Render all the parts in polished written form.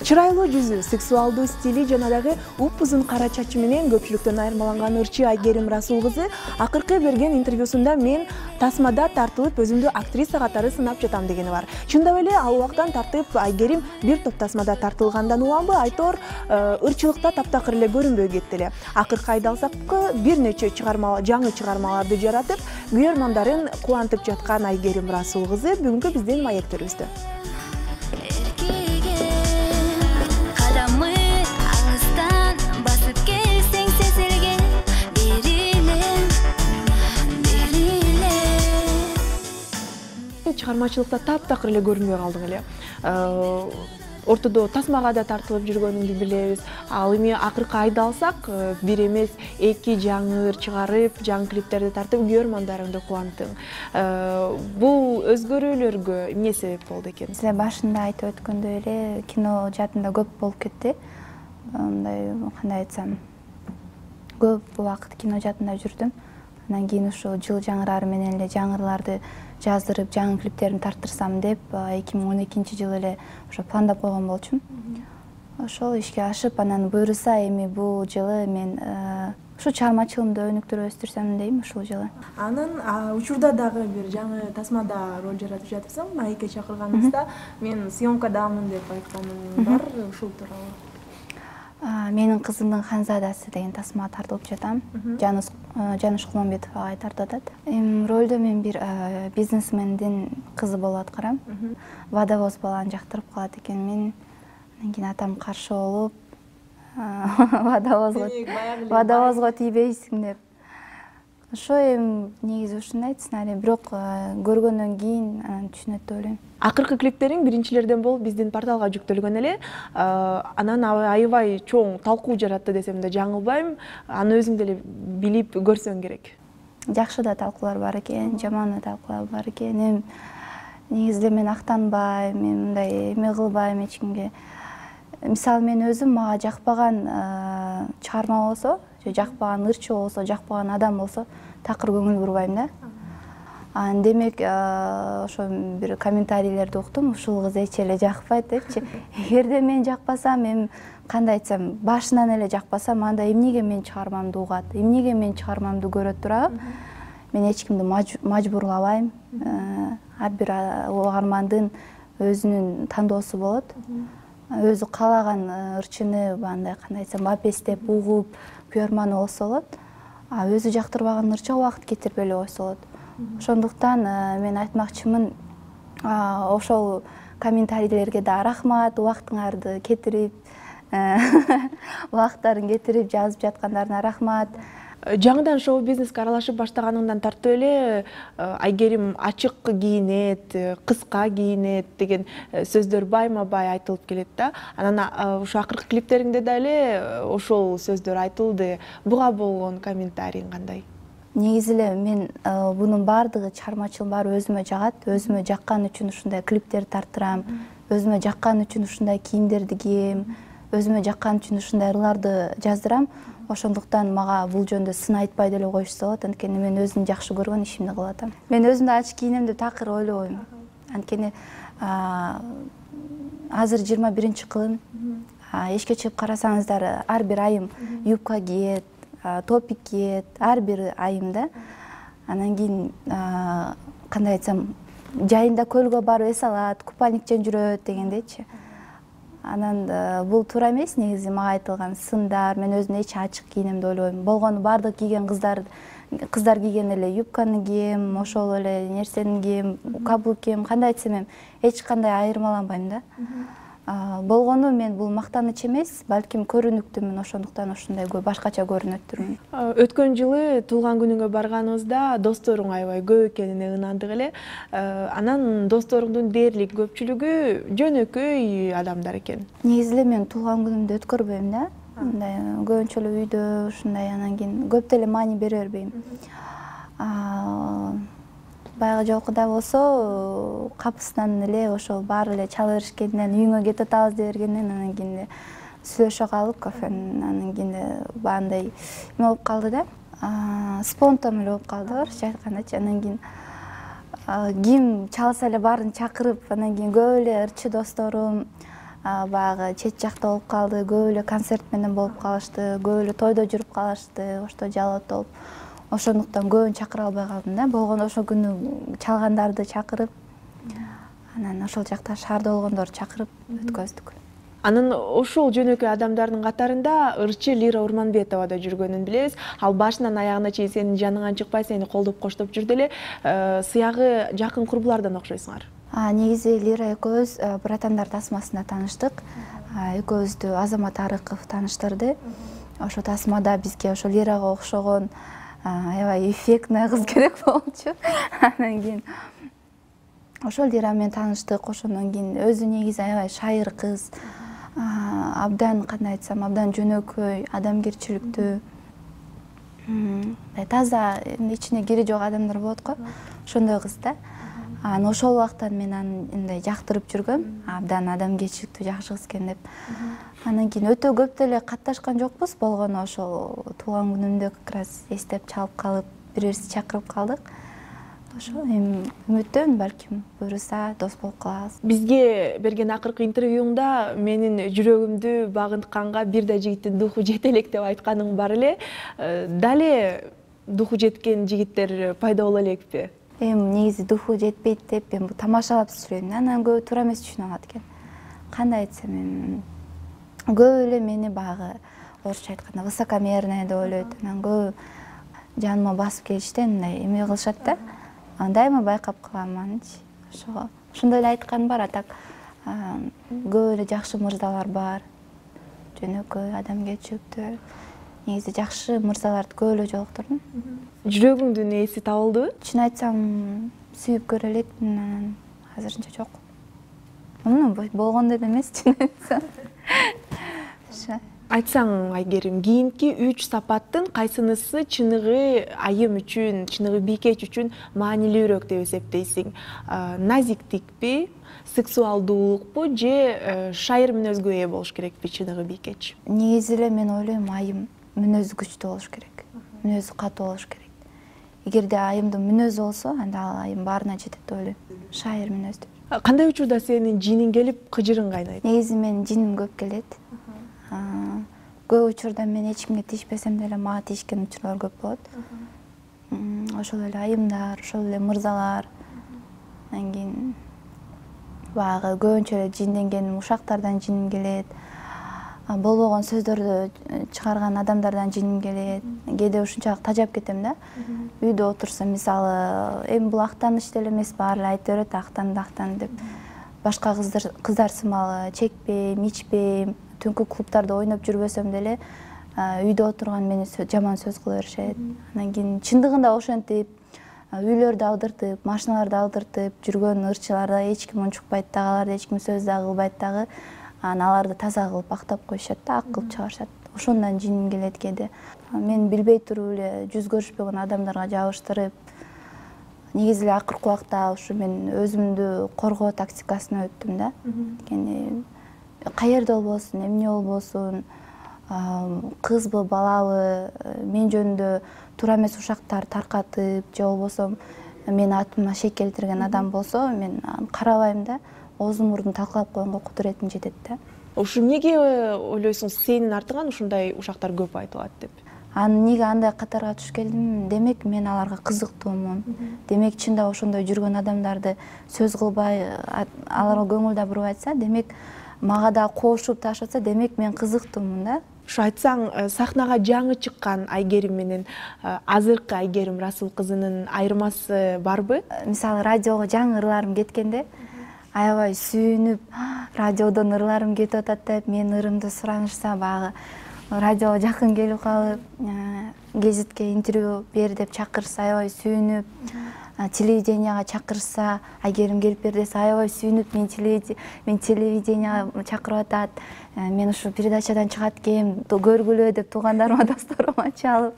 Чырайлуу жүзү, сексуалдуу стили жана дагы упузун кара чачы менен көпчүлүктөн айырмаланган ырчы Айгерим Расул кызы акыркы берген интервьюсунда мен тасмада тартылып өзүмдү актриса катары сынап жатам дегени бар. Чындап эле ал убактан тартып Айгерим бир топ тасмада тартылгандан уланбы айтор ырчылыкта таптакыр эле көрүнбөй кетти эле. Акыркы айдалсакы бир нече жаңы чыгармаларды жаратып, күйөрмандарын кубантып жаткан Айгерим Расул кызы бүгүнкү биздин маектерибизде. Чыгармачылыкта таптакыр эле көрүнбөй калдың эле. Ортодо тасмага да тартылып жүргөнүңдү билебиз. Ал эми акыркы айды алсак, бир эмес, эки жаңы ыр чыгарып, жаңы клиптерди тартып, күйөрмандарыңды кубанттың. Бул өзгөрүүлөргө эмне себеп болду экен? Силер башында айтып өткөндөй эле кино жаатында көп болуп кетти. Мындай кандай айтсам, көп убакыт кино жаатында жүрдүм. Андан кийин ушул жыл жаңырары менен эле жаңырларды жаздырып, жаңы клиптерин тарттырсам деп 2012-жылы эле ошо пландап койгон болчумун. Ошол ишке ашып, анан буюрса эми бул жылы мен ушу чыгармачылыгымды өнүктүрүп өстүрсөм дейм ушул жылы. Анан учурда дагы бир жаңы тасмада роль жаратып жатырсың. Маекке чакырганыбызда мен съемкадамын деп айтканың бар, ушул тууралуу. Менин кызымдын Ханзадасы деген тасмага тартылып жатам. Жаныш Кулмамбетовага тартып атат. Ролдо мен бир бизнесмендин кызы болуп аткарам. Водовоз баланы жактырып калат экен мен. Андан кийин атам каршы болуп, водовозго тийбейсиң деп. Ошо негизи ушундай сценарий, бирок көргөндөн кийин анан түшүнөт деп ойлойм. Акыркы клиптериң биринчилерден болуп биздин порталга жүктөлгөн эле. Анан аябай чоң талкуу жаратты десем да жаңылбайм. Аны өзүң деле билип көрсөң керек. Жакшы да талкуулар бар экен, жаман да талкуулар бар экен. Негизи мен актанбайм, мен мындай эме кылбайм эч кимге. Мисалы мен өзүм мага жакпаган чыгарма болсо, же жакпаган ырчы болсо, жакпаган адам болсо, такыр көңүл бурбайм да. Демек, ошо бир комментарийлерди уктум, ушул кыз эч эле жакпайт депчи. Эгерде мен жакпасам, кандай айтсам, башынан эле жакпасам, анда эмнеге мен чыгармамды угат, эмнеге мен чыгармамды көрөт турабы? Мен эч кимди мажбурлабайм. Ар бир угармандын өзүнүн тандоосу болот. Өзү каалаган ырчыны андай кандай айтсам, бапестеп угуп, күйөрманы болсо болот. Өзү жактырбаган ырчыга убакыт кетирип эле койсо болот. Ошондуктан мен айтмакчымын, ошол комментарийлерге да рахмат, убактыңарды кетирип, убактарын кетирип жазып жаткандарына рахмат. Жаңыдан шоу-бизнеске аралашып баштаганыңдан тартып эле Айгерим ачык кийинет, кыска кийинет деген сөздөр байма-бай айтылып келет да. Анан ушу акыркы клиптериңде да эле ошол сөздөр айтылды. Буга болгон комментарийиң кандай? Негизи эле мен бунун баардыгы чыгармачылыгым баары өзүмө жагат, өзүмө жаккан үчүн ушундай клиптерди тарттырам, өзүмө жаккан үчүн ушундай кийимдерди кийем, өзүмө жаккан үчүн ушундай ырларды жаздырам. Ошондуктан мага бул жөндө сын айтпай деле коюшса болот, анткени мен өзүм жакшы көргөн ишимди кылып атам. Мен өзүмдү ачык кийинем деп такыр ойлобойм. Анткени азыр 21-кылым. Эшикке чыгып карасаңыздар, ар бир айым юбка кийет, топик кийет, ар бир айымда. Анан кийин кандай айтсам, жайында көлгө барып эс алат, купальникчен жүрөт дегендейчи. Анан бул туура эмес, негизи мага айтылган сындар. Мен өзүм эч ачык кийинем деп ойлобойм. Болгону бардык кийген кыздар кийген эле юбканы кийем, ошол эле нерсени кийем, каблук кийем, кандай айтсам эч кандай айырмаланбайм да. Болгону мен бул мактаныч эмес, балким көрүнүктүмүн, ошондуктан ушундай башкача көрүнөттүрмүн. Өткөн жылы туулган күнүңө барганыбызда досторуң аябай көп экенине ынандык эле. Анан досторуңдун дээрлик көпчүлүгү жөнөкөй адамдар экен. Негизи эле мен туулган күнүмдү өткөрбөйм да. Мындай көбүнчө эле үйдө ушундай, анан кийин көп деле маани бере бербейм. Баягы жолкуда болсо капысынан эле ошол баары эле чала беришкенден үйүңө кетип атабыз деп бергенден анан кийин сүйлөшө калып кафенин, анан кийин баандай эме болуп калды да. Спонтан эле болуп калды, орусча айткандачы. Анан кийин ким чалса эле баарын чакырып, анан кийин көп эле ырчы досторум, баягы чет жакта болуп калды, көп эле концерт менен болуп калышты, көп эле тойдо жүрүп калышты, ошто жалоот болуп. Ошондуктан көбүн чакыра албай калдым да. Болгондо ошол күнү чалгандарды чакырып, анан ошол жакта шаарда болгондорду чакырып өткөздүк. Анын ошол жөнөкөй адамдардын катарында ырчы Лира Урманбетова да жүргөнүн билебиз. Ал башынан аягына чейин сенин жаныңан чыкпай, сени колдоп коштоп жүрдү эле. Сыягы жакын курбулардан окшойсуңар. Негизи Лира экөөбүз Братандар тасмасында тааныштык. Экөөбүздү Азамат Арыков тааныштырды. Ошо тасмада бизге ошо Лирага окшогон аябай эффектный кыз керек болчу. Анан кийин ошол Лира менен тааныштык. Ошондон кийин өзү негизи аябай шайыр кыз. Абдан, кандай айтсам, абдан жөнөкөй, адамгерчиликтүү. Таза, ичине кири жок адамдар болот го. Ошондой кыз да. Анан ошол убактан мен аны мындай жактырып жүргөм. Абдан адамгерчиликтүү, жакшы кыз экен деп. Анан кийин өтө көп деле катташкан жокпуз, болгону ошол туулган күнүмдө как раз эстеп чалып калып, бири-бирибизди чакырып калдык. Ошо эми үмүттөмүн, балким буюрса дос болуп калабыз. Бизге берген акыркы интервьюңда менин жүрөгүмдү багынтканга бир да жигиттин духу жете элек деп айтканың бар эле. Дале духу жеткен жигиттер пайда боло элекпи? Эми негизи духу жетпейт деп эми тамашалап сүйлөйм. Анан көбү туура эмес түшүнүп алат экен. Кандай айтсам эми көп эле мени баягы орусча айтканда высокомерный деп ойлойт. Анан көбү жаныма басып келишти, мындай эме кылышат да. Дайыма байкап калам анычы. Ошондой эле айткан бар, а так көп эле жакшы мырзалар бар. Жөнөкөй, адамгерчиликтүү. Негизи жакшы мырзаларды көп эле жолуктурдум. Жүрөгүңдүн ээси табылдыбы? Чын айтсам, сүйүп көрө элекмин, анан азырынча жок. Болгондой эмес, чын айтсам. Айтсаң, Айгерим, кийинки 3 сапаттын кайсынысы чыныгы айым үчүн, чыныгы бийкеч үчүн маанилүүрөөк деп эсептейсиң? Назиктикпи, сексуалдуулукпу же шайыр мүнөзгө ээ болуш керекпи чыныгы бийкеч? Негизи эле мен ойлойм, айым мүнөзү күчтүү болуш керек. Мүнөзү катуу болуш керек. Эгерде айымдын мүнөзү болсо, анда ал айым баарына жетет деп ойлойм. Шайыр мүнөздүү. Кандай учурда сенин жиниң келип, кыжырың кайнайт? Негизи менин жиним көп келет. Көп учурда мен эч кимге тийишпесем деле мага тийишкен учурлар көп болот. Ошол эле айымдар, ошол эле мырзалар. Анан кийин баягы көбүнчө эле жинденген ушактардан жиним келет. Болбогон сөздөрдү чыгарган адамдардан жиним келет. Кээде ушунчалык тажап кетем да. Үйдө отурсам, мисалы, эми бул актаныч деле эмес, баары эле айта берет, актан деп. Башка кыздар сымалы чекпейм, ичпейм, түнкү клубтарда ойноп жүрбөсөм деле үйдө отурган мени жаман сөз кыла беришет. Анан кийин чындыгында ошентип, үйлөрдү алдыртып, машиналарды алдыртып жүргөн ырчыларда эч ким унчукпайт дагы, аларды эч ким сөз дагы кылбайт дагы. Анан аларды таза кылып актап коюшат да, ак кылып чыгарышат. Ошондон жиним келет кээде. Мен билбей туруп эле жүз көрүшпөгөн адамдарга жабыштырып, негизи эле акыркы убакта ушу мен өзүмдү коргоо тактикасына өттүм да. Анткени каерде болбосун, эмне болбосун, кызбы, балабы, мен жөнүндө туура эмес ушактар таркатып, же болбосо менин атыма шек келтирген адам болсо, мен карабайм да, оозун мурдун талкалап койгонго кудуретим жетет да. Ушу эмнеге ойлойсуң, сенин артыңан ушундай ушактар көп айтылат деп? Эмнеге андай катарга түшүп келдим? Демек мен аларга кызыктуумун. Демек чында ошондой жүргөн адамдарды сөз кылбай, аларга көңүл да буруп айтса, демек мага да кошуп ташатса, демек мен кызыктуумун да. Ушу айтсаң, сахнага жаңы чыккан Айгерим менен азыркы Айгерим Расул кызынын айырмасы барбы? Мисалы, радиого жаңы ырларым кеткенде аябай сүйүнүп, радиодон ырларым кетип атат деп, мен ырымды суранышса, баягы радиого жакын келип калып, гезитке интервью бер деп чакырса, аябай сүйүнүп, телевиденияга чакырса, Айгерим келип бер десе, аябай сүйүнүп, мен телевиденияга чакырып атат, мен ушу передачадан чыгат экем, көргүлө деп туугандарыма, досторума чалып,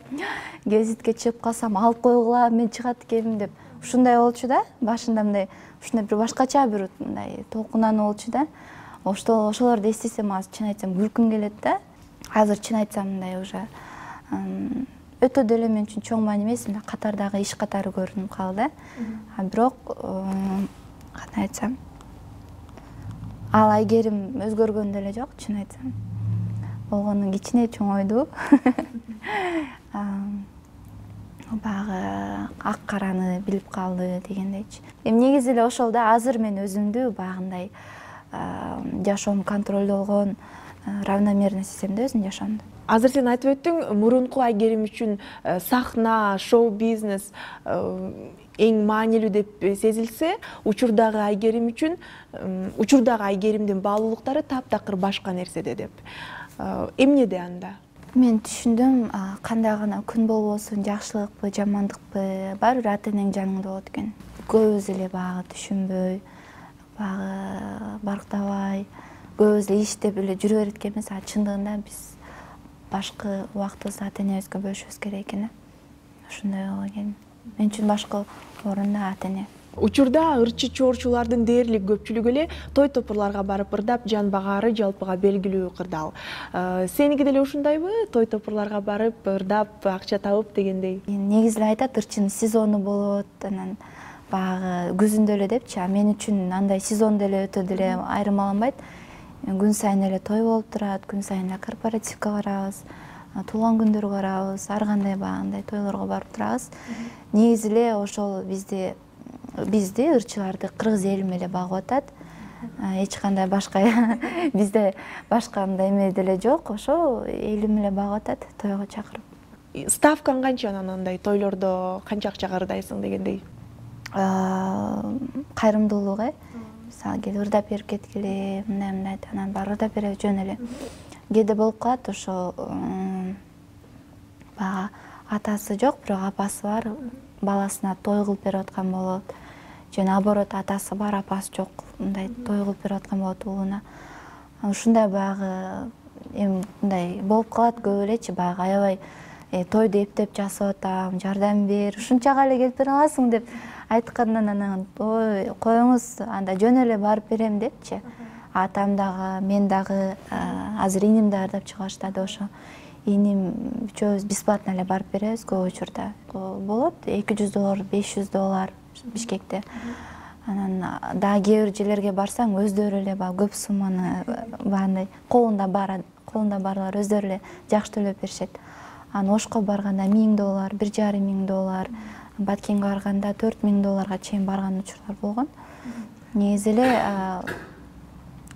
гезитке чыгып калсам, алып койгула, мен чыгат экенмин деп. Ушундай болчу да, башында мындай, ушундай бир башкача бир мындай толкунан болчу да. Ошолорду эстесем, азыр чын айтсам күлкүм келет да. Азыр чын айтсам мындай уже өтө деле мен үчүн чоң маани эмес, мындай катардагы иш катары көрүнүп калды да. Бирок кандай айтсам, Ал Айгерим өзгөргөн деле жок, чын айтсам. Болгону кичине чоңойду. Багы ак караны билип калды дегендейчи. Негизи эле ошол да, азыр мен өзүмдү багындай жашоом контролдолгон, равномерный сезем да өзүмдүн жашоомду. Азыр сен айтып өттүң, мурунку Айгерим үчүн сахна, шоу-бизнес эң маанилүү деп сезилсе, учурдагы Айгерим үчүн, учурдагы Айгеримдин баалуулуктары таптакыр башка нерседе деп. Эмнеде анда? Мен түшүндүм, кандай гана күн болбосун, жакшылыкпы, жамандыкпы, баары бир ата энең жаныңда болот экен. Көбүбүз эле багы түшүнбөй, багы барктабай, көбүбүз эле иштеп эле жүрө берет экенбиз. Чындыгында биз башкы убактыбызды ата энебизге бөлүшүбүз керек экен. Ошондой боло экен. Мен үчүн башкы орунда ата эне. Учурда ырчы чоорчулардын дээрлик көпчүлүгү эле той топурларга барып ырдап, жан багаары жалпыга белгилүү кырдаал. Сеники деле ушундайбы? Той топурларга барып, ырдап, акча табып дегендей? Негизи эле айтат, ырчынын сезону болот, анан баягы күзүндө эле депчи. Мен үчүн андай сезон деле өтө деле айырмаланбайт. Күн сайын эле той болуп турат, күн сайын эле корпоративке барабыз, туулган күндөргө барабыз, ар кандай баягындай тойлорго барып турабыз. Негизи эле ошол бизди ырчыларды кыргыз элим эле багып атат. Эч кандай башка бизде башка мындай эме деле жок. Ошо элим эле багып атат, тойго чакырып. Ставкаң канча анандай тойлордо канча акчага ырдайсың дегендей? Кайрымдуулук мисалы кел ырдап берип кеткиле, мындай анан баары ырдап беребиз жөн эле. Кээде болуп калат, ошо баягы атасы жок, бирок апасы бар, баласына той кылып берип аткан болот. Же наоборот, атасы бар, апасы жок, мындай той кылып берип аткан болот уулуна. Ушундай баягы мындай болуп калат көп элечи, баягы аябай тойду эптеп жасап атам, жардам бер, ушунчага эле келип бере аласың деп айткандан анан ой коюңуз, анда жөн эле барып берем депчи. Атам дагы, мен дагы, азыр иним да ырдап чыга баштады. Ошо иним үчөөбүз бесплатно эле барып беребиз көп учурда. Болот $200, $500 Бишкекте. Анан дагы кээ бир жерлерге барсаң, өздөрү эле баягы көп сумманы баягындай колунда барлар өздөрү эле жакшы төлөп беришет. Анан Ошко барганда $1000, $1,500, Баткенге барганда $4000 чейин барган учурлар болгон. Негизи эле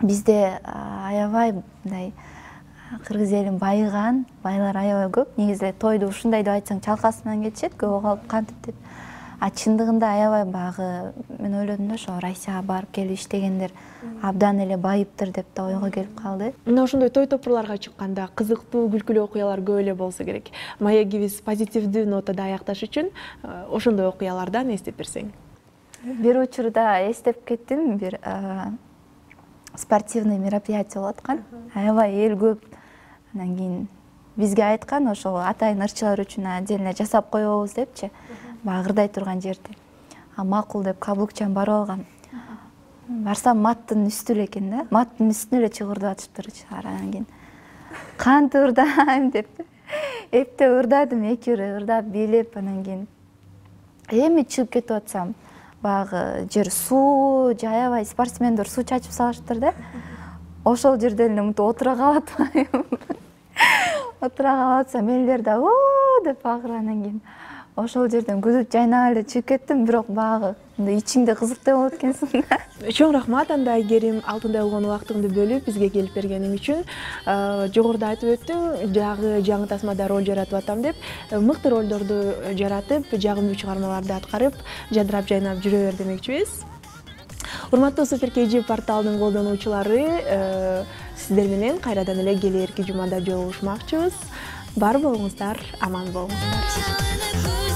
бизде аябай мындай кыргыз элин байыган, байлар аябай көп. Негизи эле тойду ушундай деп айтсаң чалкасынан кетишет, көп калып кантип деп. Чындыгында аябай багы мен ойлодум да, ошо Россияга барып келип иштегендер абдан эле байыптыр деп да ойго келип калды. Мына ошондой той топурларга чыкканда кызыктуу, күлкүлүү окуялар көп эле болсо керек. Маегибиз позитивдүү нотада аякташ үчүн ошондой окуялардан эстеп берсең. Бир учурда эстеп кеттим, бир спортивный мероприятие болуп аткан. Аябай эл көп. Анан кийин бизге айткан, ошол атайын ырчылар үчүн отдельно жасап коебуз депчи. Баягы ырдай турган жерде. Макул деп каблукчан барып алгам. Барсам маттын үстү эле экен да. Маттын үстүнө эле чыгып ырдап атышыптыр. Анан кийин кантип ырдайм деп эптеп ырдадым, 2 бир ырдап бийлеп, анан кийин эми чыгып кетип атсам, баягы жер суу, аябай спортсмендер суу чачып салышыптыр да. Ошол жерде эле мынтип отура калып атпайм. Отура калып атсам, элдер да оо деп багыр, анан кийин ошол жерден күлүп жайнап эле чыгып кеттим, бирок баягы ичиңде кызыктай болот экенсиң да. Чоң рахмат анда Айгерим, алтындай болгон убактыңды бөлүп бизге келип бергениң үчүн. Жогоруда айтып өттүң, дагы жаңы тасмада роль жаратып атам деп, мыкты ролдорду жаратып, жагымдуу чыгармаларды аткарып, жадырап жайнап жүрө бер демекчибиз. Урматтуу Супер KG порталынын колдонуучулары, сиздер менен кайрадан эле келээрки жумада жолугушмакчыбыз. Бар болуңуздар, аман болуңуздар.